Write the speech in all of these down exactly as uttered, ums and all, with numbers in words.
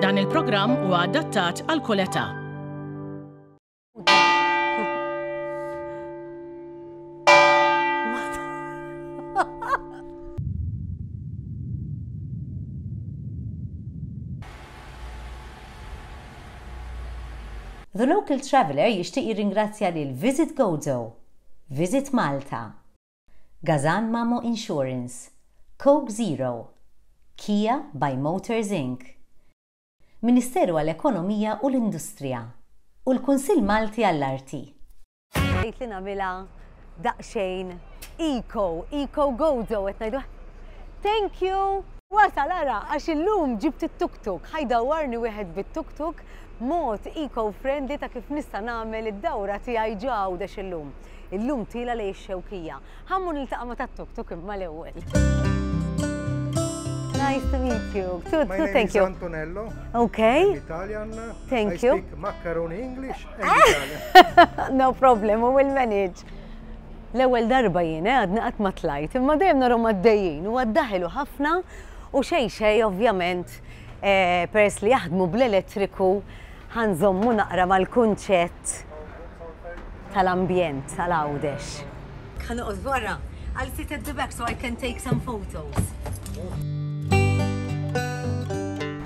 Dan il-programm huwa adattat għal kull età. The Local Traveller jixtieq jirringrazzja lil Visit Gozo, Visit Malta, Gazan Mamo Insurance, Coke Zero, Kia by Motors Incorporated, Ministeru għall-Ekonomija u l-Industrija u l-Kunsill Malti għall-Arti. Għidt li nagħmilha daqsxejn eco, eco Gozo, qed ngħidu. Thank you! Wasal ara, għax illum ġibt it-tuk-tuk, ħa jdawwarni wieħed bit-tuk-tuk, mod eco-friendly ta' kif nista' nagħmel id-dawra tiegħi ġo Għawdex illum. Illum tiela' lejn ix-Xewkija. Ħa mmur niltaqa' ma' tat-tuk-tuk imma l-ewwel. Nice to meet you. Too, My too, name thank is you. Antonello. Okay. I'm Italian. Thank I you. speak macaroni English and Italian. No problem, we will manage. L-ewwel darba jien eh, għadni qatt ma tlajt, imma dejjem narhom għaddejjin u għaddaħilu ħafna u xejn xejn ovvjament eh, peress li jaħdmu bl-elettriku ħa nżommu naqra mal-kunċett tal-ambjent tal-Għawdex. Ħa noqgħod wara. I'll sit at the back so I can take some photos.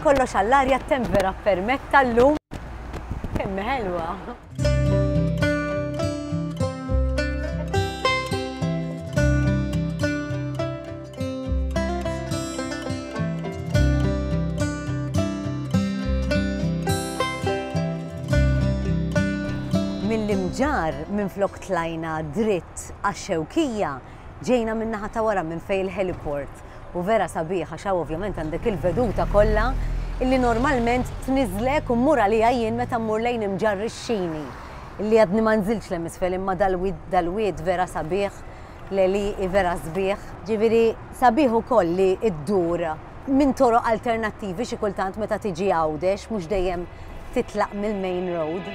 Kollox għall-arja, t-temp vera permetta llum. Kemm ħelwa. Mill-Imġarr minn flok tlajna dritt għax-Xewkija, ġejna min-naħa ta' wara minn fejn il-heliport. U vera sabiħ għax hawn ovvjament għandek il-veduta kollha illi normalment tniżlek u mmur għalija jien meta mmur lejn Imġarr ix-Xini. Illi għadni ma nżilx l isfel imma dal-wied dal-wied vera sabiħ, l-għelieqi vera sbieħ. Ġifieri sabiħ ukoll li ddur minn toroq alternattivi xi kultant meta tiġi Għawdex, mhux dejjem titlaq mill-main road.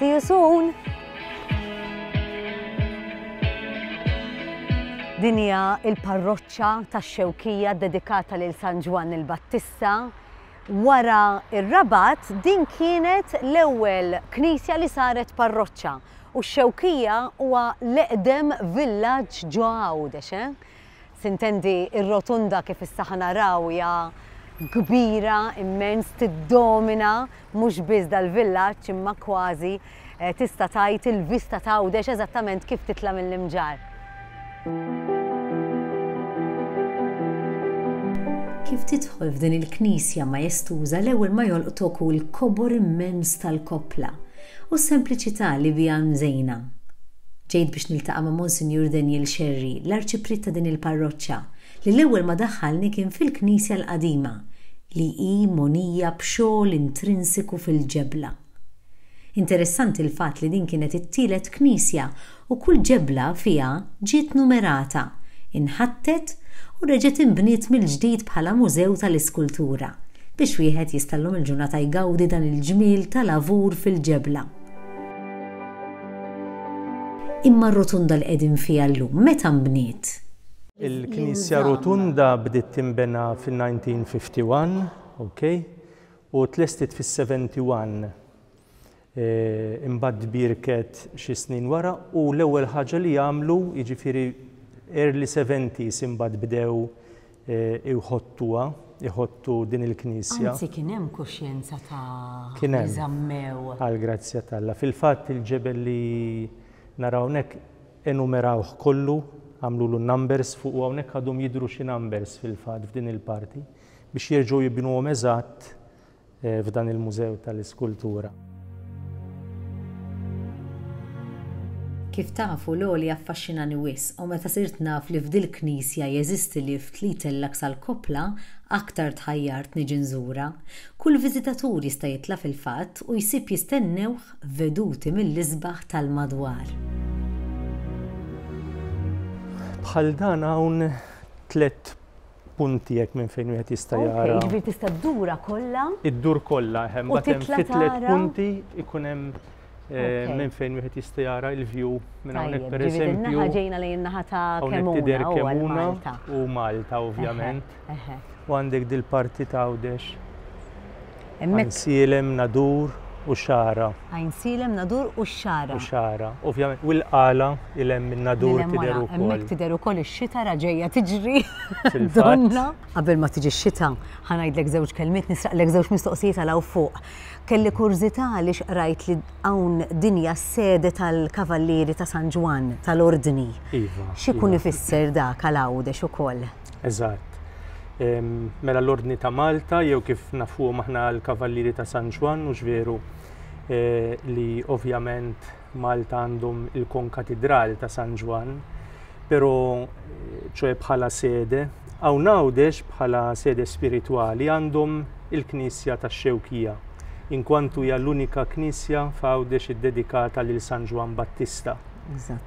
See you soon! Din hija il-parroċċa tax-Xewkija dedikata lil San Ġwann il-Battista. Wara ir-Rabat din kienet l-ewwel knisja li saret parroċċa u x-Xewkija huwa l-eqdem villaġġ ġo Għawdex, eh? Sintendi ir-rotunda kif issa ħa naraw hija kbira immens, tiddomina mhux biss dal-villaġġ imma kważi, eh, tista' tgħid il-vista ta' Għawdex eżattament kif titla' mill-Imġarr. Kif tidħol f'din il-knisja majestuża l-ewwel ma jolqtok hu l-kobor immens tal-koppla u s-sempliċità li biha mżejna. Ġejt biex niltaqa' ma' Monsinjur Daniel Scerri, l-arċipriet ta' din il-parroċċa, li l-ewwel ma daħħalni kien fil-knisja l-qadima, li hi monija b'xogħol intrinsiku fil-ġebla. Interessanti l-fatt li din kienet it-tielet knisja u kull ġebla fiha ġiet numerata, inħattet u reġgħet inbniet mill-ġdid bħala mużew tal-iskultura biex wieħed jista' llum il-ġurnata jgawdi dan il-ġmiel tal-avur fil-ġebla. Imma r-rotunda li qegħdin fiha llum meta nbniet? Il-Knisja Rotunda bdiet tinbena fil-nineteen fifty-one, okay, u tlestit fis-seventy-one. Eh, imbagħad tbierket xi snin wara u l-ewwel ħaġa li għamlu, jiġifieri early seventies imbagħad bdew, eh, iħottuha, iħottu din il-knisja. Anzi kien hemm kuxjenza ta' Kien hemm. li żammew. Għal grazzja t'Alla. Fil-fatt il-ġebel li naraw hawnhekk enumerawh kollu, għamlulu numbers fuq u hawnhekk għadhom jidhru xi numbers fil-fatt f'din il-parti biex jerġgħu jibnuhom eżatt, eh, f'dan il-Mużew tal-Iskultura. Kif tafu l-għoli affaxxinani wisq u meta sirt naf li f'dil knisja jeżisti lift li jtellak sal-koppla, aktar tħajjart niġi nżura. Kull viżitatur jista' jitla' fil-fatt u jsib jistennewh veduti mill-isbaħ tal-madwar. Bħal dan hawn tliet punti jekk minn fejn wieħed jista' Ok, jara. Jiġifieri tista' ddura kollha? Iddur kollha, eħe, U mbagħad hemm titla' fi tliet tara? punti ikun hemm Minn fejn wieħed jista' jara l-view minn hawnhekk pereżempju. Naħa ġejna lejn naħa ta' Kemuna u Malta. U Malta ovvjament. U għandek dil-parti ta' Għawdex. Għajnsielem, Nadur u Xagħra. Għajnsielem, Nadur u Xagħra. U Xagħra, ovvjament. U l-Qala il hemm minn Nadur tidher ukoll. Hemmhekk tidher ukoll ix-xita ra ġejja tiġri. Donna. Qabel ma tiġi x-xita, ħa ngħidlek żewġ kelmiet, nisraqlek żewġ mistoqsijiet għal hawn fuq. Kelli kurżità għaliex qrajt li hawn dinja s-sede tal-Kavallieri ta' San Ġwann, tal-Ordni. Iva. X'ikun ifisser dak għal Għawdex ukoll? Eżatt. Mela l-Ordni ta' Malta, jew kif nafuhom aħna l-Kavallieri ta' San Ġwann, mhux veru li ovvjament Malta għandhom il-Konkatidral ta' San Ġwann, però ċoe bħala sede, hawn Għawdex bħala sede spiritwali għandhom il-Knisja tax-Xewkija, inkwantu hija l-unika knisja f'Għawdex iddedikata lil San Ġwann Battista,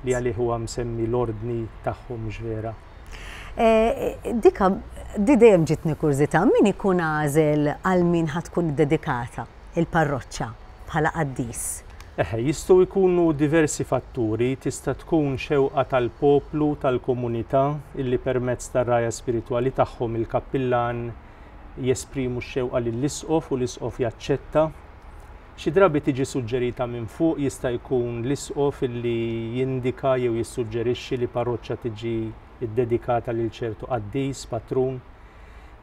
li għalih huwa msemmi l-ordni tagħhom vera. Dika, di dejjem ġitni kurżità, min ikun għażel għal min ħa tkun iddedikata il-parroċċa bħala qaddis? Eħe, jistgħu jkunu diversi fatturi, tista' tkun xewqa tal-poplu, tal-komunità, illi permezz tar-rajja spiritwali tagħhom il-kappillan jesprimu x-xewqa lill-isqof u l-isqof jaċċetta. Xi drabi tiġi suġġerita minn fuq, jista' jkun l-isqof illi jindika jew jissuġġerixxi li parroċċa tiġi ddedikata lil ċertu qaddis, patrun.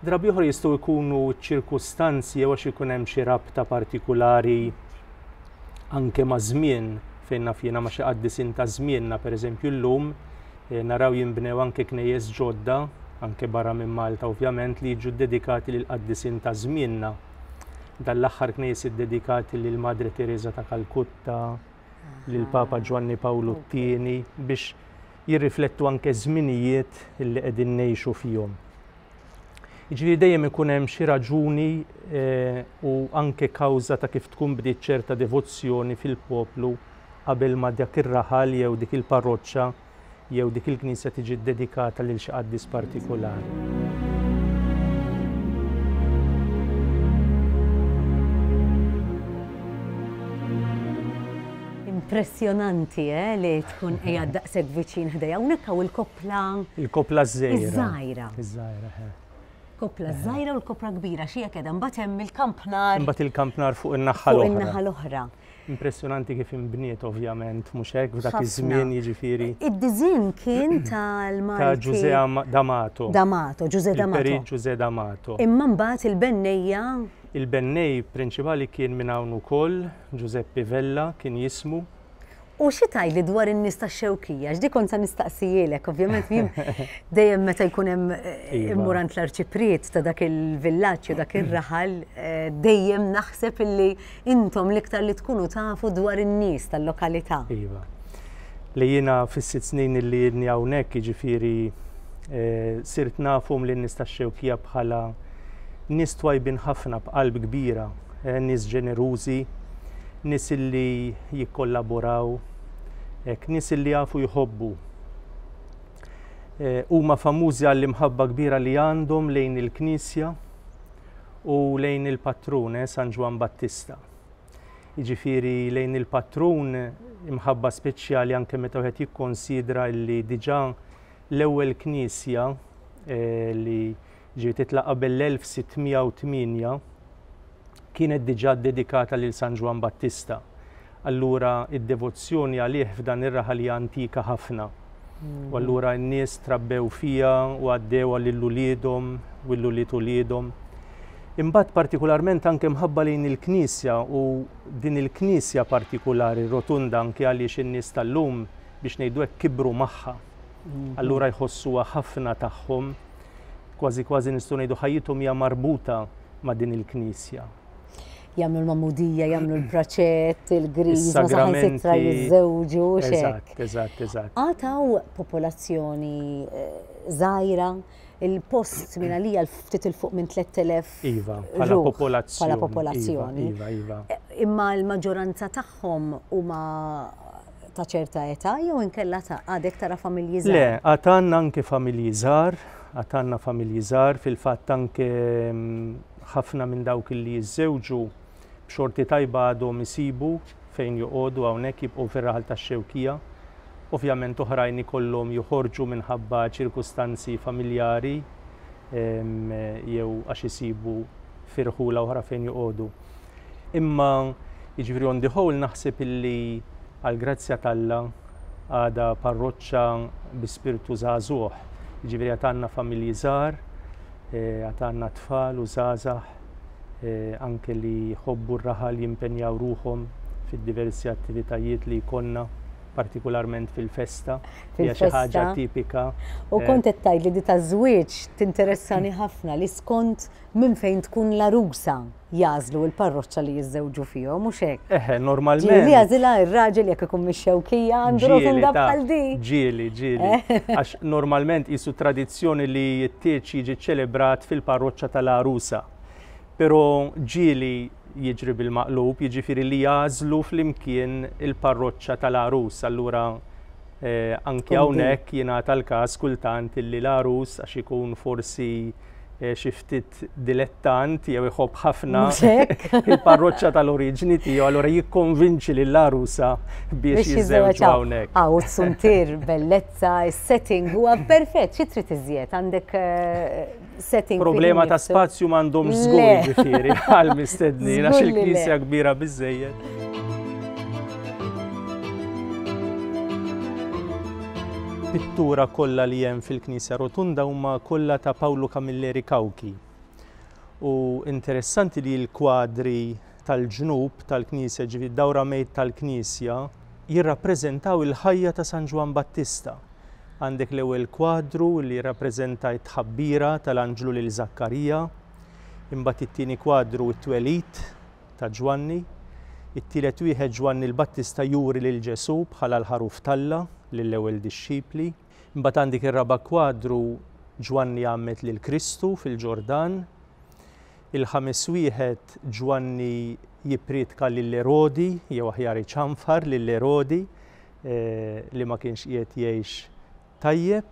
Drabi oħra jistgħu jkunu ċirkustanzi jew għax ikun hemm xi rabta partikulari anke ma' żmien, fejn naf jiena ma' xi qaddisin ta' żmienna, pereżempju llum naraw jinbnew anke knejjes ġodda, anke barra minn Malta ovvjament, li jiġu ddedikati lil qaddisin ta' żmienna. Dan l-aħħar knejjes iddedikati lil Madre Teresa ta' Kalkutta, lil Papa Ġwanni Pawlu t-tieni, biex jirriflettu anke żminijiet li qegħdin ngħixu fihom. Jiġifieri dejjem ikun hemm xi raġuni u anke kawża ta' kif tkun bdiet ċerta devozzjoni fil-poplu qabel ma dak ir-raħal jew dik il-parroċċa jew dik il-knisja tiġi ddedikata lil xi qaddis partikolari. Impressjonanti, eh, li tkun qiegħed daqshekk viċin ħdejja. Hawnhekk hawn il-koppla. Il-koppla żgħira. Iż-żgħira. Iż-żgħira, eh. Koppla żgħira u l-koppla kbira, xi hekk qiegħda. Mbagħad hemm il-kampnar. Imbagħad il-kampnar fuq in-naħa l-oħra. Fuq in-naħa l-oħra. Impressjonanti kif inbniet ovvjament, mhux hekk f'dak iż-żmien jiġifieri. Id-diżinn kien tal-Malti. Ta' Ġużè D'Amato. D'Amato, Ġużè D'Amato. Il-Perit Ġużè D'Amato. Imma mbagħad il-bennejja. Il-bennej prinċipali kien minn hawn ukoll, Giuseppe Vella kien jismu. U xi tgħidli dwar in-nies tax-Xewkija? X'di kont se nistaqsijielek, ovvjament jien dejjem meta jkun hemm immur għand l-arċipriet ta' dak il-villaġġ u dak ir-raħal, dejjem naħseb illi intom l-iktar li tkunu tafu dwar in-nies tal-lokalità. Iva. Li jiena fis-sitt snin illi ilni hawnhekk, jiġifieri sirt nafhom lin-nies tax-Xewkija bħala nies twajbin ħafna b'qalb kbira, nies ġenerużi, nies illi jikkollaboraw, nies illi jafu jħobbu. Huma famużi għall-imħabba kbira li għandhom lejn il-Knisja u lejn il-patrun, San Ġwann Battista. Jiġifieri lejn il-patrun imħabba speċjali anke meta wieħed jikkonsidra li diġà l-ewwel knisja li ġiet titla' qabel l-elf sitt mija u tmienja kienet diġà dedikata lil San Ġwann Battista. Allura id-devozzjoni għalih f'dan ir-raħal hija antika ħafna. U allura n-nies trabbew fija u għaddew lil uliedhom u lil ulied uliedhom. Imbagħad partikolarment anke mħabba lejn il-Knisja u din il-Knisja partikolari rotunda anke għaliex in-nies tal-lum biex ngħidu hekk kibru magħha. Allura jħossuha ħafna tagħhom, kważi kważi nistgħu ngħidu ħajjithom hija marbuta ma' din il-Knisja. Jagħmlu l-mamudija, jagħmlu l-praċett, il-griżma, saħansitra jiżżewġu x'hekk. Eżatt, eżatt, eżatt. Għataw popolazzjoni żgħira, il-post minn għalija ftit il fuq minn tlett elef. Iva, bħala popolazzjoni. Bħala popolazzjoni. Iva, iva. Imma l-maġġoranza tagħhom huma ta' ċerta età jew inkella ta' għadek tara familji żgħar? Le, għad għandna anke familji żgħar, għad għandna familji żgħar, fil-fatt anke ħafna minn dawk li jiżżewġu b'xorti tajba għadhom isibu fejn joqogħdu hawnhekk, jibqgħu fir-raħal tax-Xewkija. Ovvjament oħrajn ikollhom joħorġu minħabba ċirkustanzi familjari jew għax isibu firħula oħra fejn joqogħdu. Imma jiġifieri on the whole naħseb illi għall-grazzja t'Alla għadha parroċċa bi spirtu żagħżugħ. Jiġifieri għad għandna familji żgħar, għad għandna tfal u żgħażagħ anke li jħobbu r-raħal, jimpenjaw ruħhom fid-diversi attivitajiet li jkollna, partikolarment fil-festa, hija xi ħaġa tipika. U kont qed tgħid li di taż-żwieġ tinteressani ħafna, li skont minn fejn tkun l-arusa jażlu l-parroċċa li jiżżewġu fihom, mhux hekk? Eħe, normalment. Ġieli jażilha r-raġel jekk ikun mix-Xewkija għandu rotunda bħal di. Ġieli, ġieli. Għax normalment qisu tradizzjoni li t-tieġ jiġi ċelebrat fil-parroċċa tal-arusa. Però ġieli jiġri bil-maqlub, jiġifieri li jażlu flimkien il-parroċċa tal-arus. Allura eh, anki hawnhekk jingħata l-każ kultant illi l-arus, għax ikun forsi eh, xi ftit dilettant jew iħobb ħafna il-parroċċa tal-oriġini tiegħu, allura jikkonvinċi lill-arusa biex jiżżewġu hawnhekk. Hawn suntier, bellezza, is-setting huwa perfett, xi trid iżjed għandek setting. Problema ta' spazju m'għandhomx żgur, ġifieri għal mistednin, għax il-knisja kbira biżejjed. Pittura kollha li hemm fil-Knisja Rotunda huma kollha ta' Paolo Camilleri Cauchi. U interessanti li l-kwadri tal-ġnub tal-Knisja, ġifieri dawra mejt tal-Knisja, jirrappreżentaw il-ħajja ta' San Ġwann Battista. Għandek l-ewwel kwadru li jirrappreżenta t-tħabbira tal-anġlu lil Zakkarija, imbagħad it-tieni kwadru t-twelid ta' Ġwanni, it-tielet wieħed Ġwanni l-Battista juri lil Ġesù bħala l-ħaruf t'Alla lill-ewwel dixxipli, imbagħad għandek ir-raba' kwadru Ġwanni għammed lil Kristu fil-Ġordan, il-ħames wieħed Ġwanni jippriedka lil Erodi, jew aħjar iċanfar lil Erodi li ma kienx qiegħed jgħix tajjeb,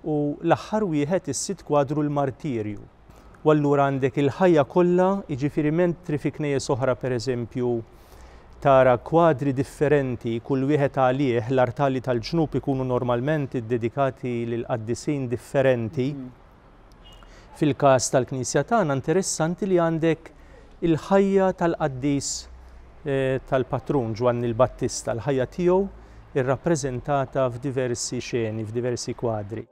u l-aħħar wieħed is-sitt kwadru l-martirju. U allura għandek il-ħajja kollha, jiġifieri mentri fi knejjes oħra pereżempju tara kwadri differenti, kull wieħed għalih, l-artali tal-ġnub ikunu normalment iddedikati lil qaddisin differenti. Fil-każ tal-Knisja tagħna interessanti li għandek il-ħajja tal-qaddis tal-patrun Ġwanni l-Battista, l-ħajja tiegħu irrappreżentata f'diversi xeni, f'diversi kwadri.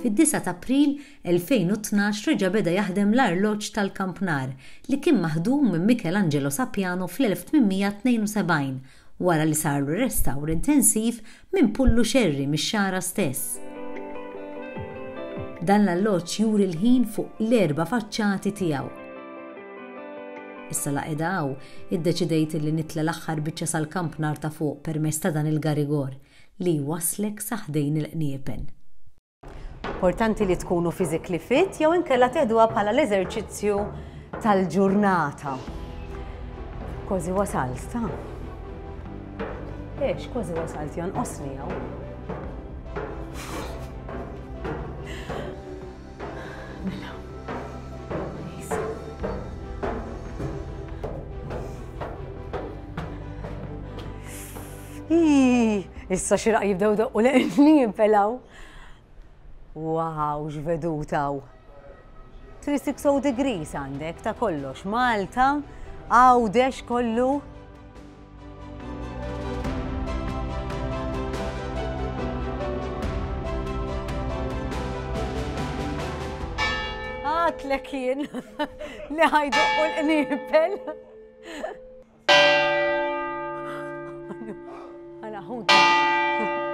Fid-disgħa ta' April elfejn u tnax reġa' beda jaħdem l-arloġġ tal-Kampnar li kien maħdum minn Michelangelo Sapiano fl-elf tmien mija tnejn u sebgħin wara li sarlu restawr intensiv minn Pullu Xerri mix-Xagħra stess. Dan l-alloġġ juri l-ħin fuq l-erba' faċċati tiegħu. Issa la qiegħda hawn, iddeċidejt li nitla' l-aħħar biċċa sal-Kampnar ta' fuq permezz ta' dan il-garigor li jwaslek sa ħdejn il-qniepen. Importanti li tkunu physically fit jew inkella teħduha bħala l-eżerċizzju tal-ġurnata. Kważi wasalt, ta'? Ex, kważi wasalt, jonqosni hawn. Mela. Ii, issa xi raq jibdew doqqu l-qniepen. Wow, x'veduta hawn. three sixty degrees għandek ta' kollox. Malta, Għawdex kollu. Għatlek jien li ħajdoqqu l-qniepel. Għala ħudu.